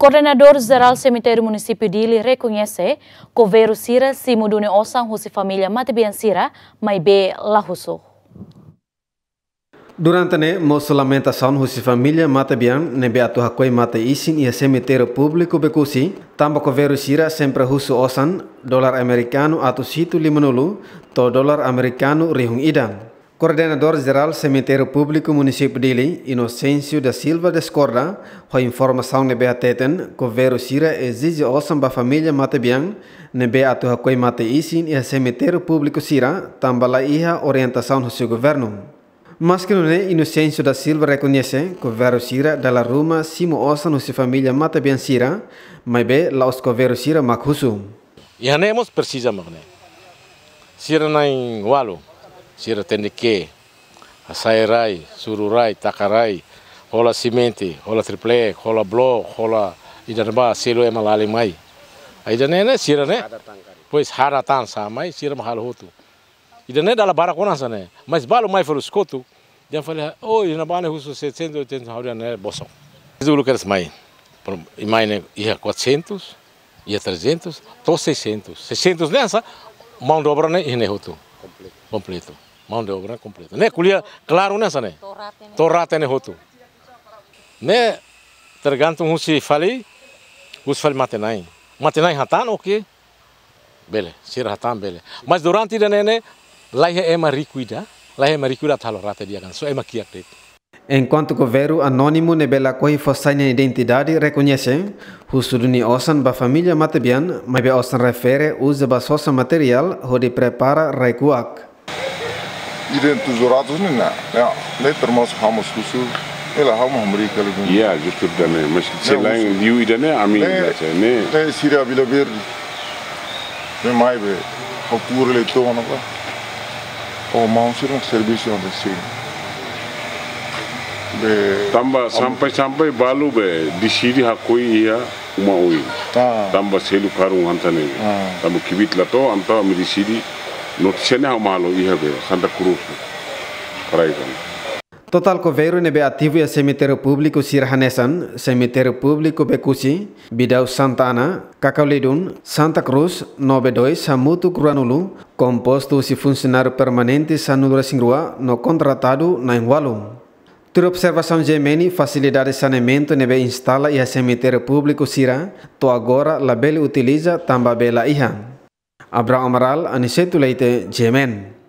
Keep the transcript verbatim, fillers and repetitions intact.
Koordenadór Jerál Semitériu Munisípiu Dili rekoñese koveiru sira simu duni osan husi família matebian sira, maibé la husu. Durante ne'e, mosu lamentasaun husi família matebian ne'ebé atu hakoi mate-isin iha semitériu públiku Becusse, tanba koveiru sira sempre husu osan dolar amerikanu atus hitu lima-nulu to'o dolar amerikanu rihun ida. Koordenadór Jerál Semitériu Públiku Munisípiu Dili, Inocêncio da Silva, diskorda ho informasaun ne'ebé hateten koveiru sira ezije osan ba família matebian ne'ebé atu hakoi mate-isin iha semitériu públiku sira, tanba la iha orientasaun husi governu. Maski nune'e, Inocêncio da Silva rekoñese koveiru sira dala ruma simu osan husi família matebian sira, maibé la'ós koveiru sira mak husu. Iha ne'e mós presiza mak ne'e. Sira na'in-ualu, sira tenke hasai rai, suru rai, taka rai, hola simente, hola triple, hola blok, hola ida-ne'ebá, selu ema lalin mai. Ida-ne'e ne'e sira ne'e. Pois harat tan sa'e mai, sira mak halo hotu. Ida-ne'e dala barak ona hanesan ne'e. Mas balu mai fali husi kotuk, dehan fali, oh, ida-ne'ebá ne'e husu setecentos, oitocentos, ha'u dehan ne'e bosok. Zulu kedas mai. Pro-, i mai ne'e iha quatrocentos, iha trezentos, to'o seiscentos. Seiscentos ne'e hanesan mão de obra ne'e iha ne'e hotu. Kompletu. Kompletu. Mão de obra kompletu. Ne'e ko'alia klaru ne'e hanesan ne'e. To'o rate ne'e. To'o rate ne'e hotu. Ne'e tergantung husi fali, husi fali matebian. Matebian hatán, oke. Bele, sira hatán bele. Mas durante ida-ne'e ne'e, la iha ema riku ida, la iha ema riku ida atu halo rate di'ak hanesan, só ema kiak de'it. Enkuantu koveiru anónimu ne'ebé lakohi fó sai nia identidade rekoñese, husu duni osan ba família matebian, maibé osan refere uza ba sosa materiál hodi prepara rai-kuak. Ida-ne'e tujuh ratus ne'e, ne'e, ne'e termasuk ha'u mós husu, ne'e la ha'u mós hamriik hela duni. Iya, justru ida-ne'e, mas ne'e selain husu. Liu ida-ne'e, ami ne'e, baca, ne'e. Ne'e sira Vila Verde. Ne'e mai be, ha'u tuur hela to'o ona ba. Oh, maun sira servisu hanesan ne'e. Be, tanba ami sampai-sampai balu be, deside hakoi iha uma oin. Ah. Tanba selu karun hanesan ne'e. Ah. Tanba kbiit la to'o, entaun ami deside, notísia ne'e ha'u mak halo iha be, Santa Cruz. Paraíba. Totál koveiru ne'ebé ativu iha semitériu públiku sira hanesan, semitériu públiku Becusse, Bidau Santa Ana, Cacau Leedon, Santa Cruz, no be dois, hamutuk ruanulu, kompostu husi funsionáriu permanente sanulu-resin-rua, no kontratadu na'in-ualu. Tuir observasaun G M N, fasilidade saneamentu ne'ebé instala iha semitériu públiku sira, to'o agora labele utiliza tanba bee la iha. Abrão Amaral, Aniceto Leite, G M N.